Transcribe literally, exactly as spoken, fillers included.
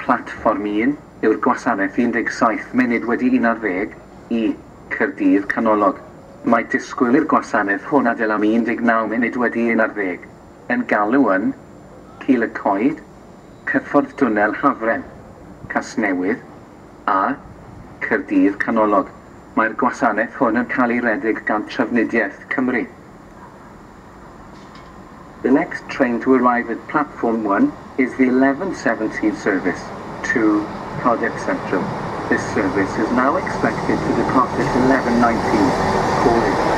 platfform un yw'r gwasanaeth un deg saith munud wedi un ar ddeg i Caerdydd Canolog. Mae disgwyl i'r gwasanaeth hwn adael am un deg naw munud wedi un ar ddeg. Yn galw yn Cil y Coed, Cyffordd Dwnnel Hafren, Casnewydd a Caerdydd Canolog. Mae'r gwasanaeth hwn yn cael ei redeg gan Trafnidiaeth Cymru. The next train to arrive at platform one is the eleven seventeen service to Cardiff Central. This service is now expected to depart at eleven nineteen. Calling